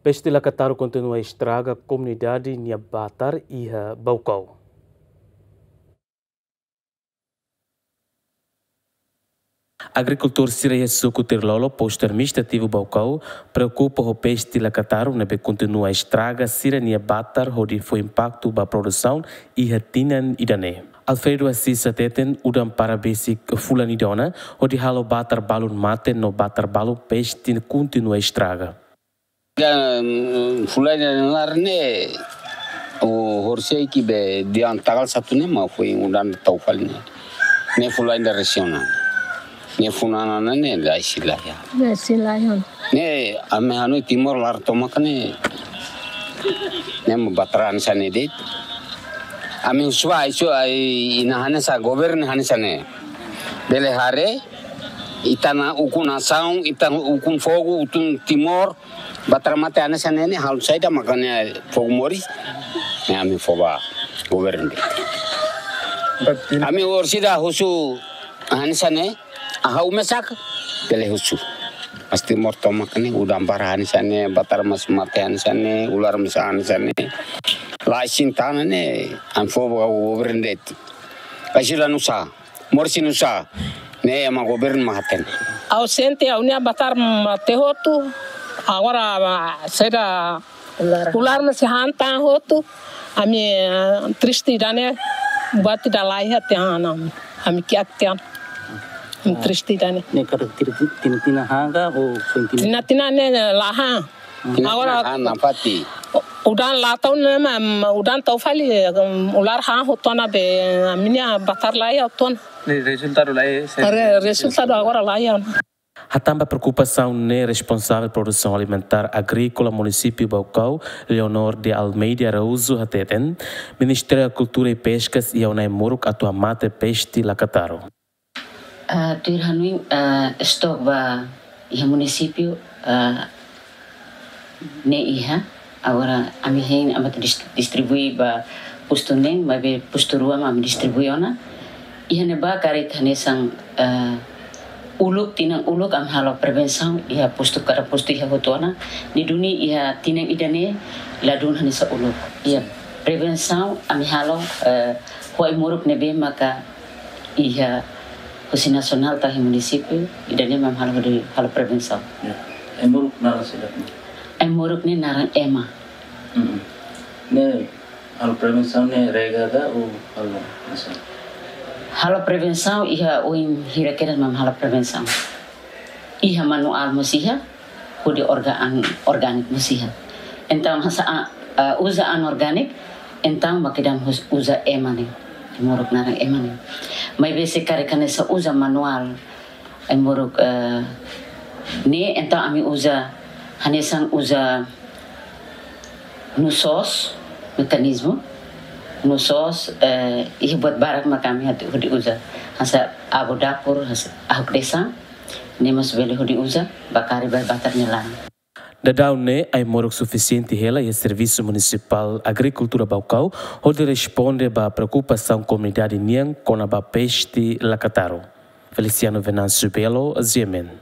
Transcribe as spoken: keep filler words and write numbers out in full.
Peste lakataru kontinua estraga komunidade nia batar iha Baucau. Agrikultór sira iha suku Tirlolo, postu administrativu Baucau, preokupa ho peste lakataru ne'ebé kontinua estraga sira-nia batar hodi fó impaktu ba produsaun iha tinan ida-ne'e. Alfredo Assis hateten udan para besik fulan ida ona hodi halo batar balun mate no batar balun peste kontinua estraga. Dan, mm, fulan ida laran ne'e, o horisehik be dehan tanggal satu ne'e mak foin udan tau fali ne'e. Ne'e fulan ida resin ona. Ne'e funan ona ne'e la iha sira-nia. La iha sira-nia. Ne'e ami hanoin Timor laran tomak ne'e. Ne'e mak batar hanesan ne'e de'it. Ami husu ba, husu ai ina hanesan governu hanesan ne'e. Bele haree, ita-nia ukun nasaun, ita-nia ukun fogu, ukun Timor, batar mate hanesan ne'e, halo saida maka ne'e fogu moris. Ne'e ami fó ba governu. Ami orsida husu hanesan ne'e, ha'u mesak, bele husu. Mas Timor tomak ne'e, udan barak hanesan ne'e, batar mós mate hanesan ne'e, ular mós hanesan ne'e. La iha sira-nia tanah ne'e, ami fó ba governu de'it. Ai sira nusá. Moris nusá, ne'e ema governu mak hatene. Ha'u sente ha'u-nia batar mate hotu, agora, ah, saida ular, ular mós han tan hotu, ami, ah, triste ida-ne'e, buat ida laiha tiha ona, ami kiak tiha ona. Ami triste ida-ne'e. Ne'e karik tinan-tinan han ka, ou foin tinan? Tinan-tinan ne'e la han. Agora, ah, nafatin. Udan la tau ne'e mak, udan tau fali, em, ular han hotu ona be, ami-nia batar la iha hotu ona. Ne'e rezultadu la iha, se- Re-, rezultadu agora la iha. Hatán ba preokupasaun ne'e, responsavel produsaun alimentár agríkola munisípiu Baucau, Leonor de Almeida Araújo hateten, Ministériu Agrikultura i Peskas iha ona ai-moruk atu hamate peste lakataru. Ah, tuir hanoin, ah, stok ba iha munisípiu, ah, ne'e iha, agora ami hein, ami atu dis-, distribui ba postu neen, maibé postu rua mak ami distribui ona. Iha ne'ebá karik hanesan, ah, uluk, tinan uluk ami halo prevensaun iha postu, kada postu iha hotu ona. Ne'e duni iha tinan ida-ne'e ladún hanesan uluk. Iha prevensaun ami halo, eh, ho ai-moruk ne'ebé maka iha husi nasionál to'o iha munisípiu, ida-ne'e mak halo hodi halo prevensaun. Ya. Ai-moruk naran saida? Ai-moruk ne'e naran Ema. Mm-mm. Ne'e halo prevensaun ne'e rega ka ou halo masa? Halo prevensaun iha oin hira kedas mak halo prevensaun. Iha manuál mós iha, hodi orga-, an-, orgániku mós iha. Entaun, hanesan, a, a, uza anorgániku, entaun mak ida-ne'e hus-, uza Ema ne'e. Ai-moruk naran Ema ne'e. Maibé se karik hanesan uza manuál, ai-moruk, eh, ne'e, entaun ami uza, hanesan uza nusoos, mekanizmu, nusoos, eh, iha buat barak mak ami hodi uza. Hanesan abu dapur, hanesan ahuk desan, ne'e mós bele hodi uza, ba kari ba batar nia laran. Daudaun ne'e, ai-moruk sufisiente hela iha Servisu Munisipál Agrikultura Baucau, hodi responde ba preokupasaun komunidade nian kona-ba peste lakataru. Feliciano Venâncio Belo, G M N.